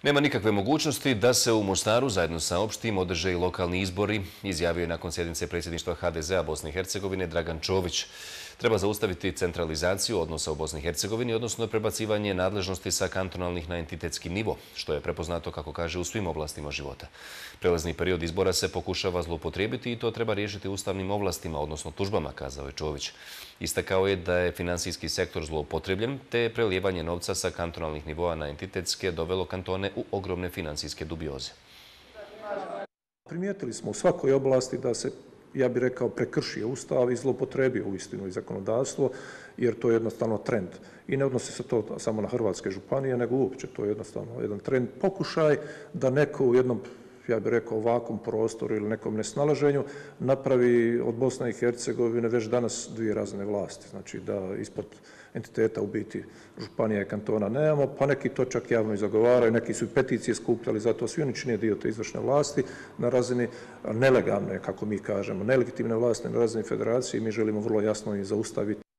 Nema nikakve mogućnosti da se u Mostaru zajedno sa opštim održe i lokalni izbori, izjavio je nakon sjednice predsjedništva HDZ-a Bosne i Hercegovine Dragan Čović. Treba zaustaviti centralizaciju odnosa u Bosni i Hercegovini, odnosno prebacivanje nadležnosti sa kantonalnih na entitetski nivo, što je prepoznato, kako kaže, u svim oblastima života. Prelazni period izbora se pokušava zloupotrijebiti i to treba riješiti ustavnim ovlastima, odnosno tužbama, kazao je Čović. Istakao je da je finansijski sektor zloupotrebljen, te je prelijevanje novca sa kantonalnih nivoa na entitetske dovelo kantone u ogromne financijske dubioze. Primijetili smo u svakoj oblasti da se, ja bih rekao, prekršio Ustav i zloupotrebio uistinu i zakonodavstvo, jer to je jednostavno trend. I ne odnosi se to samo na hrvatske županije, nego uopće to je jednostavno jedan trend, pokušaj da neko u jednom, ja bih rekao, ovakvom prostoru ili nekom nesnalaženju napravi od Bosne i Hercegovine već danas dvije razne vlasti. Znači da ispod entiteta u biti županija i kantona nemamo, pa neki to čak javno i zagovaraju, neki su i peticije skupljali, zato svi oni čine dio te izvršne vlasti na razini nelegalne, kako mi kažemo, nelegitimne vlasti na razini federacije. Mi želimo vrlo jasno i zaustaviti